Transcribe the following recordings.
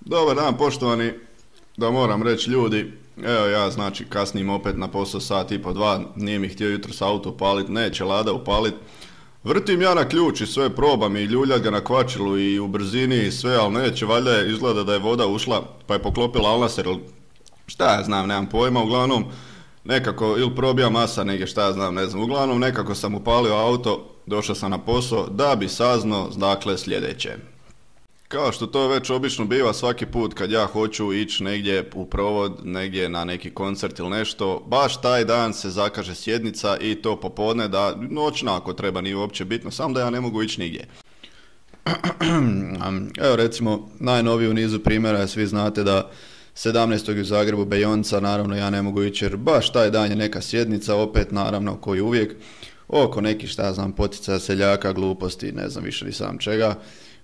Dobar dan poštovani, da moram reći ljudi, evo ja znači kasnim opet na posao sat i po dva, nije mi htio jutros auto upalit, neće Lada upalit. Vrtim ja na ključ i sve probam i ljuljat ga na kvačilu i u brzini i sve, ali neće, valjda je, izgleda da je voda ušla pa je poklopila alnaser, šta ja znam, nemam pojma, uglavnom nekako ili probija masa negdje, šta ja znam, ne znam, uglavnom nekako sam upalio auto, došao sam na posao da bi saznao dakle sljedeće. Kao što to već obično biva svaki put kad ja hoću ići negdje u provod, negdje na neki koncert ili nešto, baš taj dan se zakaže sjednica i to popodne, da noćna ako treba, nije uopće bitno, samo da ja ne mogu ići nigdje. Evo recimo najnoviji u nizu primjera, svi znate da 17. u Zagrebu Bejonca, naravno ja ne mogu ići jer baš taj dan je neka sjednica, opet naravno koji uvijek, oko nekih šta ja znam poticaja seljaka, gluposti, ne znam više ni sam čega.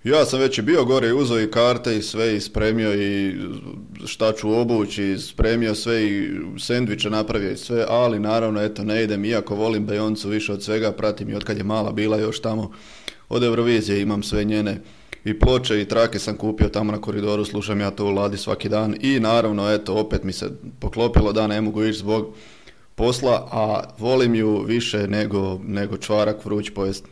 Ja sam već i bio gore i uzeo i karte i sve i spremio i šta ću obući i spremio sve i sendviče napravio i sve, ali naravno eto ne idem, iako volim Bejoncu više od svega, pratim i otkad je mala bila još tamo od Eurovizije, imam sve njene i ploče i trake sam kupio tamo na koridoru, slušam ja to u Ladi svaki dan i naravno eto opet mi se poklopilo da ne mogu ići zbog posla, a volim ju više nego čvarak vruć pojest.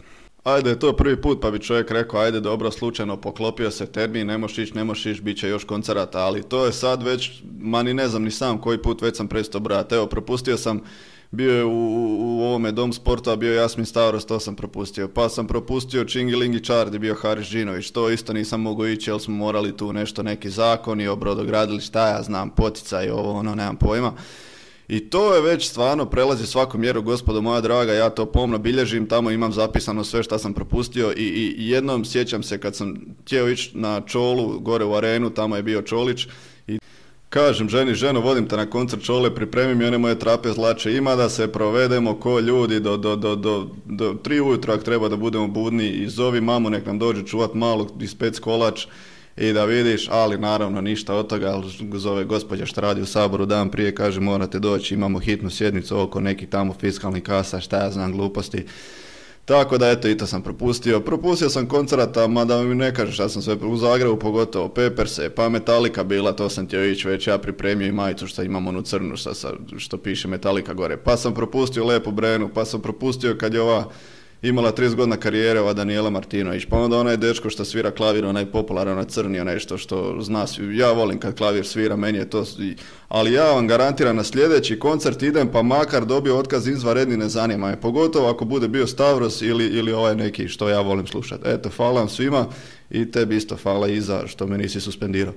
Ajde, je to prvi put pa bi čovjek rekao, ajde dobro, slučajno poklopio se termin, ne možeš ići, bit će još koncerata, ali to je sad već, ma ni ne znam ni sam koji put već sam prestao brati. Evo, propustio sam, bio je u ovome Dom sporta, bio je Jasmin Stavros, to sam propustio, pa sam propustio Čingilingi Čardi, bio Haris Žinović, to isto nisam mogao ići jer smo morali tu nešto, neki zakoni o brodogradilištu, šta ja znam, poticaj, ovo ono, nemam pojma. I to je već stvarno prelazi svaku mjeru, gospodo moja draga, ja to pomno bilježim, tamo imam zapisano sve što sam propustio i jednom sjećam se kad sam htio ići na Čolu, gore u arenu, tamo je bio Čolić i kažem ženo, vodim te na koncert Čole, pripremi mi one moje trapezlače, ima da se provedemo ko ljudi do 3 ujutro ako treba da budemo budni i zovi mamu nek nam dođe čuvat malo ispec kolač. I da vidiš, ali naravno ništa od toga, ali zove gospođa što radi u Saboru dan prije, kaže morate doći, imamo hitnu sjednicu oko nekih tamo fiskalnih kasa, šta ja znam, gluposti. Tako da eto i to sam propustio. Propustio sam koncerata, mada mi ne kažeš, ja sam sve u Zagrebu pogotovo, Pepperse, pa Metallica bila, to sam htio ići već, ja pripremio i majicu što imam onu crnu što piše Metallica gore. Pa sam propustio Lepu Brenu, pa sam propustio kad je ova imala 30 godina karijere, ova Daniela Martinović, pa onda onaj dečko što svira klavir, onaj popularan, onaj crni, nešto što zna svi, ja volim kad klavir svira, meni je to, ali ja vam garantiram na sljedeći koncert idem, pa makar dobio otkaz izvanredni, ne zanima me, pogotovo ako bude bio Stavros ili ovaj neki što ja volim slušati. Eto, hvala vam svima i tebi isto hvala Iza što me nisi suspendirao.